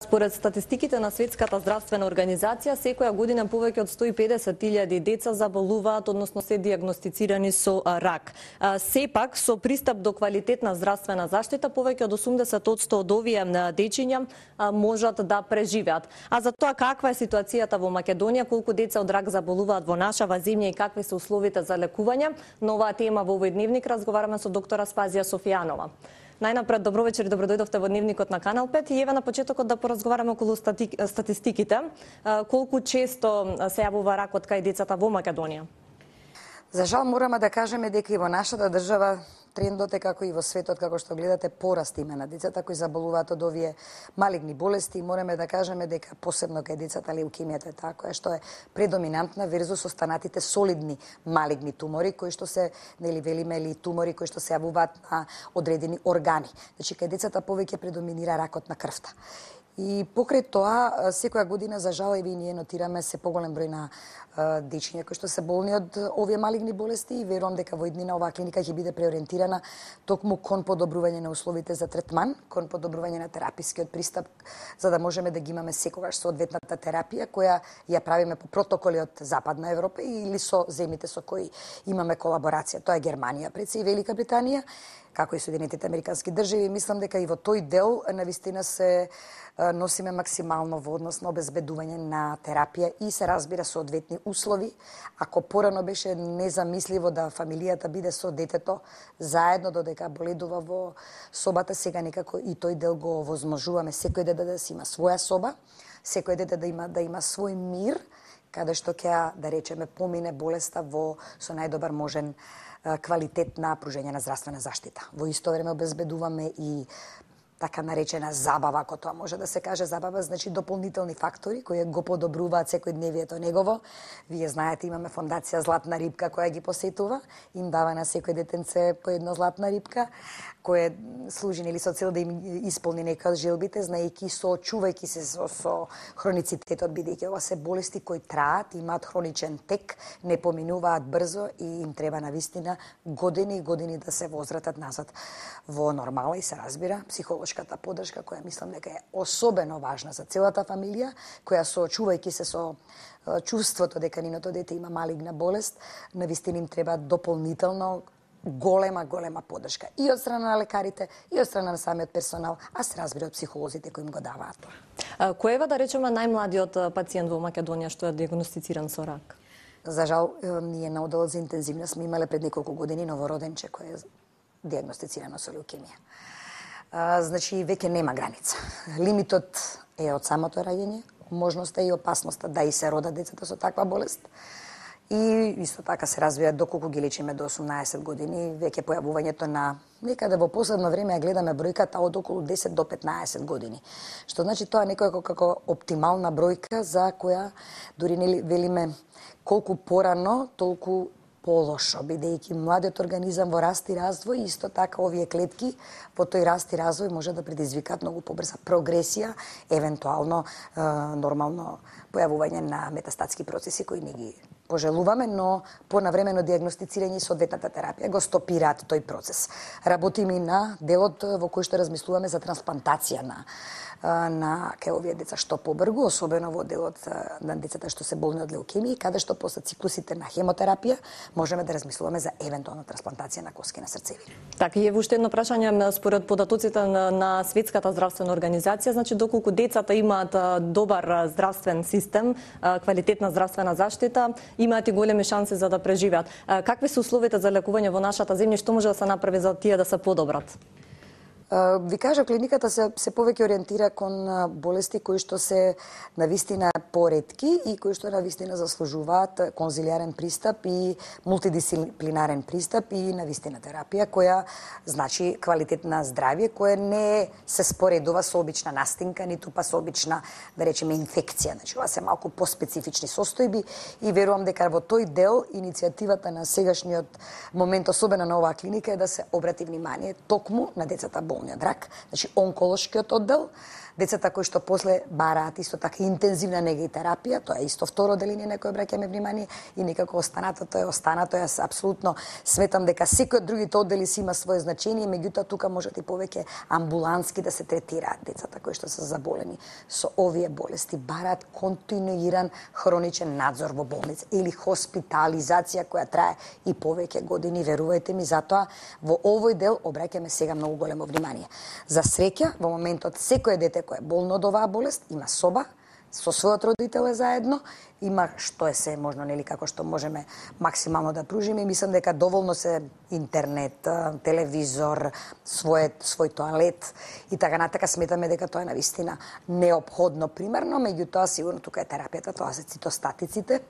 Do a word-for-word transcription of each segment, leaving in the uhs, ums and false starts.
Според статистиките на Светската здравствена организација, секоја година повеќе од сто и педесет илјади деца заболуваат, односно се диагностицирани со рак. Сепак, со пристап до квалитетна здравствена заштита, повеќе од осумдесет одсто од овие дечиња можат да преживеат. А за тоа каква е ситуацијата во Македонија, колку деца од рак заболуваат во нашава земја и какви се условите за лекување, на оваа тема во овој дневник разговараме со доктора Спазија Софијанова. Најнапред, добро вечер и добродојдовте во дневникот на Канал пет и еве на почетокот да поразговараме околу стати... статистиките. Колку често се јавува ракот кај децата во Македонија? За жал мораме да кажеме дека и во нашата држава трендот е како и во светот, како што гледате, пораст има на децата кои заболуваат од овие малигни болести. Мораме да кажеме дека посебно кај децата леукемијата е таа која што е предоминантна верзус останатите солидни малигни тумори кои што се, нели велиме, или тумори кои што се јавуваат на одредени органи. Значи кај децата повеќе предоминира ракот на крвта. И покрај тоа, секоја година, за жал, и ние нотираме се поголем број на дечиња кои што се болни од овие малигни болести и верувам дека во иднина оваа клиника ќе биде преориентирана токму кон подобрување на условите за третман, кон подобрување на терапискиот пристап, за да можеме да ги имаме секогаш соодветната терапија која ја правиме по протоколи од Западна Европа или со земјите со кои имаме колаборација. Тоа е Германија, пред се и Велика Британија, како и Соединетите Американски држави. Мислам дека и во тој дел навистина се носиме максимално во однос на обезбедување на терапија и се разбира соодветни услови. Ако порано беше незамисливо да фамилијата биде со детето заедно додека боледува во собата, сега некако и тој дел го овозможуваме. Секој дете да си има своја соба, секој дете да има да има свој мир, каде што ќе, да речеме, помине болеста во со најдобар можен квалитет на пружење на здравствена заштита. Во исто време обезбедуваме и така наречена забава, ако тоа може да се каже забава, значи дополнителни фактори кои го подобруваат секојдневието негово. Вие знаете, имаме фондација Златна рибка која ги посетува, им дава на секој детенце по една златна рибка, која служи нели со цел да им исполни некои од желбите, знаејќи соочувајќи се со, со хроницитетот, бидејќи ова се болести кои траат, имаат хроничен тек, не поминуваат брзо и им треба навистина години и години да се возвратат назад во нормала и се разбира психолошката поддршка која мислам дека е особено важна за целата фамилија, која соочувајќи се со чувството дека ниното дете има малигна болест, навистина им треба дополнително голема, голема поддршка и од страна на лекарите, и од страна на самиот персонал, а се разбира од психолозите кои им го даваат тоа. Кој е, да речеме, најмладиот пациент во Македонија што е диагностициран со рак? За жал, ние на одделот за интензивна сме имале пред неколку години новороденче кој е диагностицирано со леукемија. Значи, веќе нема граница. Лимитот е од самото раѓање, можноста и опасноста да и се родат децата со таква болест. И исто така се развија доколку ги лечиме до осумнаесет години, веќе појавувањето на некаде во последно време ја гледаме бројката од околу десет до петнаесет години. Што значи тоа некоја како оптимална бројка за која дури нели велиме колку порано, толку полошо, бидејќи младиот организам во раст и развој, исто така овие клетки во тој раст и развој може да предизвикаат многу побрза прогресија, евентуално е, нормално појавување на метастатски процеси кои не ги пожелуваме, но по навремено диагностицирање и соодветната терапија го стопираат тој процес. Работиме и на делот во кој што размислуваме за трансплантација на на кај овие деца што побргу, особено во делот на децата што се болни од леукемија, каде што после циклусите на хемотерапија можеме да размислуваме за евентуална трансплантација на коски на срцеви. Така и е уште едно прашање според податоците на, на Светската здравствена организација, значи доколку децата имаат добар здравствен систем, квалитетна здравствена заштита, имаат и големи шанси за да преживеат. Какви се условите за лекување во нашата земја, што може да се направи за тие да се подобрат? Ви кажа, клиниката се, се повеќе ориентира кон болести кои што се навистина поретки и кои што навистина заслужуваат конзилиарен пристап и мултидисциплинарен пристап и навистина терапија, која значи квалитет на здравје, која не се споредува со обична настинка, ниту па со обична, да речеме, инфекција. Значи, ова се малку поспецифични состојби и верувам дека во тој дел иницијативата на сегашниот момент, особено на оваа клиника, е да се обрати внимание токму на децата болни од рак, значи онколошкиот оддел, децата кои што после бараат исто така интензивна нега и терапија, тоа е исто второ деление на кое обраќаме внимание, и некако останатото е останато. Јас апсолутно сметам дека секој од другите оддели си има свое значење, меѓутоа тука можат и повеќе амбулански да се третираат децата кои што се заболени со овие болести, бараат континуиран хроничен надзор во болница или хоспитализација која трае и повеќе години. Верувајте ми, затоа во овој дел обраќаме сега многу големо внимание. За среќа, во моментот секое дете кое е болно од оваа болест има соба со својот родител е заедно, има што е се можно, нели, како што можеме максимално да пружиме, и мислам дека доволно се интернет, телевизор, свој свој тоалет и така натака. Сметаме дека тоа е навистина неопходно примерно, меѓутоа сигурно тука е терапијата, тоа се цитостатиците,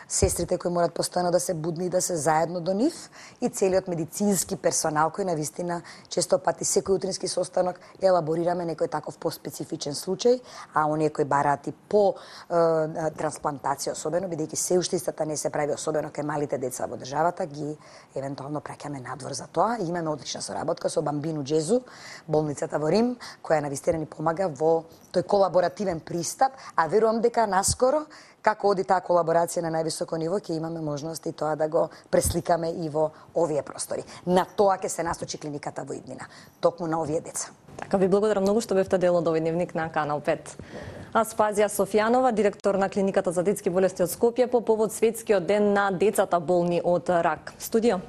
сестрите кои морат постојано да се будни и да се заедно до нив, и целиот медицински персонал кој навистина често пати секој утрински состанок елаборираме некој таков поспецифичен случај, а оние кои бараат и по е, трансплантација особено, бидејќи се уште истата не се прави особено кај малите деца во државата, ги евентуално праќаме надвор за тоа. И имаме одлична соработка со Бамбину Џезу, болницата во Рим, која навистина ни помага во тој колаборативен пристап, а верувам дека наскоро како оди таа колаборација на највисоко ниво, ќе имаме можност и тоа да го пресликаме и во овие простори. На тоа ќе се насочи клиниката во иднина, токму на овие деца. Така, ви благодарам многу што бевте дел од овој дневник на Канал пет. Аспазија Софијанова, директор на клиниката за детски болести од Скопје, по повод светскиот ден на децата болни од рак. Студио.